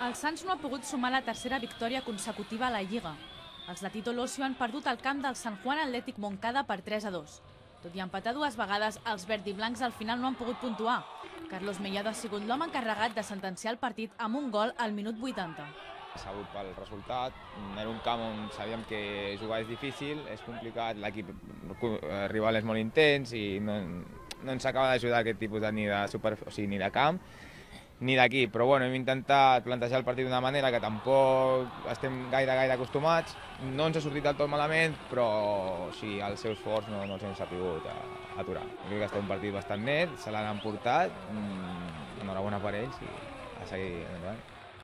El Sants no ha pogut sumar la tercera victòria consecutiva a la Lliga. Els de Tito Losio han perdut el camp del San Juan Athletic Moncada per 3-2. Tot i empatar dues vegades, els verd i blancs al final no han pogut puntuar. Carlos Mellado ha sigut l'home encarregat de sentenciar el partit amb un gol al minut 80. Sabut pel resultat, era un camp on sabíem que jugar és difícil, és complicat, l'equip rival és molt intens i no ens acaba d'ajudar aquest tipus ni de camp ni d'equip, però bueno, hem intentat plantejar el partit d'una manera que tampoc estem gaire acostumats. No ens ha sortit del tot malament, però sí, els seus forts no els hem sabut aturar. Crec que ha estat un partit bastant net, se l'han emportat, enhorabona per ells i a seguir endavant.